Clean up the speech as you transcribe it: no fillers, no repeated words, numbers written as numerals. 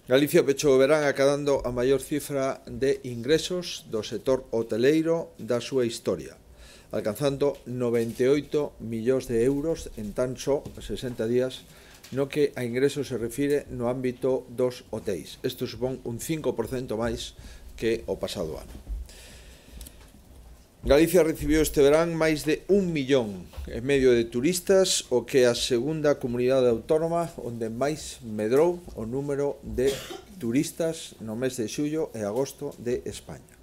Galicia pechou o verán acadando a maior cifra de ingresos do sector hoteleiro da súa historia, alcanzando 98 millóns de euros en tan só 60 días no que a ingresos se refire no ámbito dos hotéis. Isto supón un 5% máis que o pasado ano. Galicia recibiu este verán máis de 1,5 millón de turistas, o que é a segunda comunidade autónoma onde máis medrou o número de turistas no mes de xullo e agosto de España.